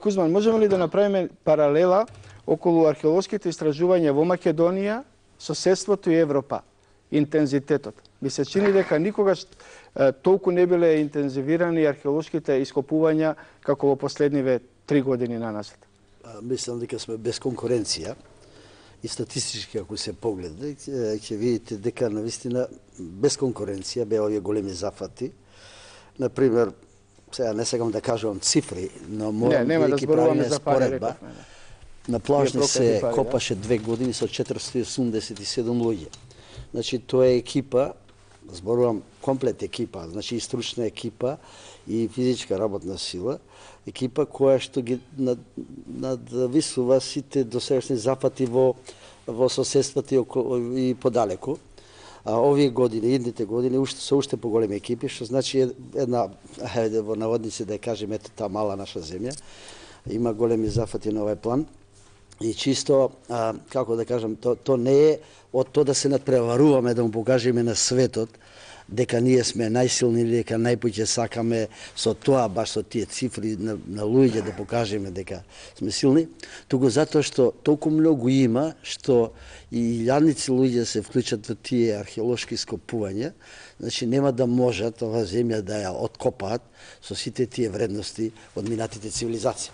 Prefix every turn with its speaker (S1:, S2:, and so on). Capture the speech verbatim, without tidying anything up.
S1: Кузман, можеме ли да направиме паралела околу археолошките истражувања во Македонија, соседството и Европа, интензитетот? Ми се чини дека никогаш толку не биле интензивирани археолошките ископувања како во последниве три години на назад.
S2: Мислам дека сме без конкуренција и статистички ако се погледа, ќе видите дека навистина без конкуренција беа овие големи зафати. Например, сега не сакам да кажувам цифри, но морам
S1: не,
S2: да
S1: ги правиме
S2: споредба. На Плажни се копаше две години со четиристотини осумдесет и седум луѓе. Значи, тоа е екипа, зборувам комплет екипа, значи и стручна екипа и физичка работна сила, екипа која што ги надвисува сите досегашни зафати во во соседството и, и подалеку. А овие години, идните години, уште се уште поголеми екипи, што значи една, хајде во наводници да кажем, ето таа мала наша земја, има големи зафати на овој план. И чисто, а, како да кажам, то, то не е од тоа да се надпреваруваме, да му покажеме на светот дека ние сме најсилни, дека најпоќе сакаме со тоа, баш со тие цифри на, на луѓе да покажеме дека сме силни, туку затоа што толку многу има, што и илјадници луѓе се вклучат во тие археолошки ископувања, значи нема да можат ова земја да ја откопаат со сите тие вредности од минатите цивилизации.